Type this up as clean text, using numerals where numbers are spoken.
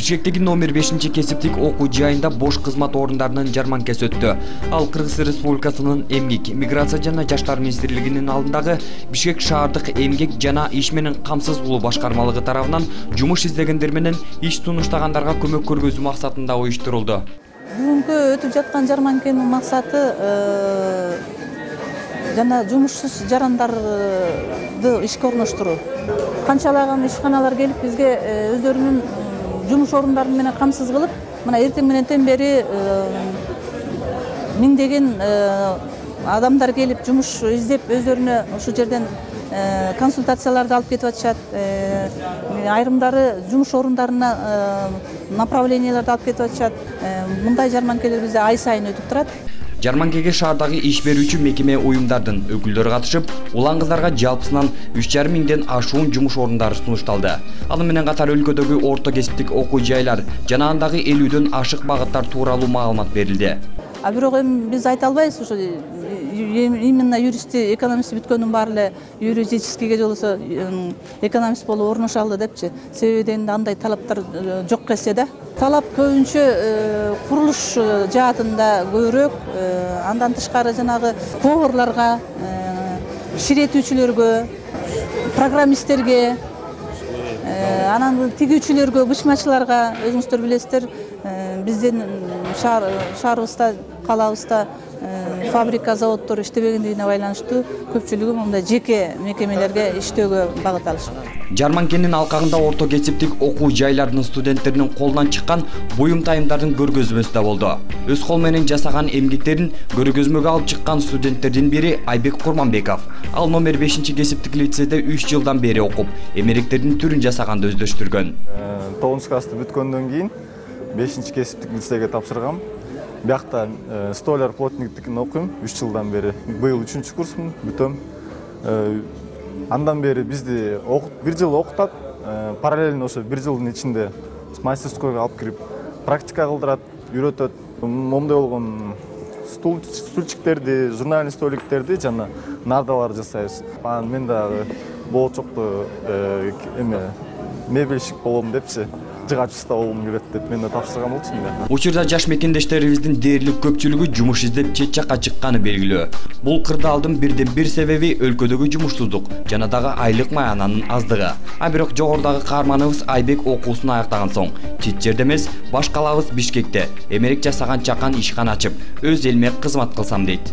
Бишкектеги номер 5 кесиптик окуу жайында бош кызмат орундарынын жарманкасы өттү. Ал Кыргыз Республикасынын Эмгек, миграция жана жаштар министрлигинин алдындагы Бишкек шаардык эмгек жана иш менен камсыздуулуу башкармалыгы тарабынан жумуш издегендер менен иш сунуштагандарга көмөк көргөзүү максатында уюштурулду. Бүгүнкү өтүп жаткан жарманканын максаты жана жумушсуз жарандарды ишке орноштуруу. Канчалаган ишканалар келип бизге өздөрүнүн жумуш орундары менен камсыз кылып, мына эртең менен бери миңдеген адамдар келип жумуш издеп өздөрүнө ушул жерден консультацияларды алып кетип атышат. Айрымдары жумуш орундарына направленияларды алып кетип атышат. Мындай жарманкелер бизде ай сайын өтүп турат. Жарманкеге шаардагы иш берүүчү мекеме уюмдардын өкүлдөрү катышып, улан кыздарга жалпысынан 3,5 миңден ашуун жумуш орундары сунушталды. Аны менен катар өлкөдөгү орто кесиптик окуу жайлар жана андагы 50дөн ашык багыттар тууралуу маалымат берилди. Бирок эми биз айта албайбыз, ошо именно юристти, экономист бүткөндүн баары эле юридическийге же болбосо экономист болуп орноша алды депчи. Себеби дегенде андай талаптар жок келсе да. Талап көбүнчө курулуш жаатында көбүрөөк, андан тышкары жанагы поварларга, ширетүүчүлөргө, программисттерге, анан тигүүчүлөргө, бышмачыларга, өзүңүздөр билесиздер, биздин шаарыбызда, калабызда фабрика, заводдор иштебегендигине байланыштуу көпчүлүгү мындай жеке мекемелерге иштөөгө багыт алышат. Жарманкенин алкагында орто кесиптик окуу жайларынын студенттеринин колунан чыккан буюм тайымдардын көргөзмөсү да болду. Өз кол менен жасаган эмгектерин көргөзмөгө алып чыккан студенттердин бири Айбек Курманбеков. Ал номер 5 кесиптик лицейде 3 жылдан бери окуп, эмеректердин түрүн жасаганды өздөштүргөн. 9 классты бүткөндөн кийин 5 кесиптик лицейге тапшыргам. Биякта столяр плотниктикин окуйм 3 жылдан бери. Быйыл 3-чү курсмун, бүтөм. Андан бери бизди 1 жыл окутат, параллельно ошо 1 жылдын ичинде мастерскойго алып кирип практика кылдырат, үйрөтөт. Момундай болгон стульчиктерди, журнальный столиктерди жана нардалар жасайбыз. Мен дагы болочокто мебельщик болом депчи, жыгачыста болом келет деп мен да тапшырган болчумун. Учурда жаш мекендештерибиздин дээрлик көпчүлүгү жумуш издеп чет жакка чыкканы белгилүү. Бул кырдаалдын бирден бир себеби өлкөдөгү жумушсуздук жана дагы айлык маянанын аздыгы. Бирок жогорудагы каарманыбыз Айбек окуусун аяктаган соң чет жерде эмес, баш калабыз Бишкекте эмерек жасаган чакан ишкана ачып, өз элиме кызмат кылсам дейт.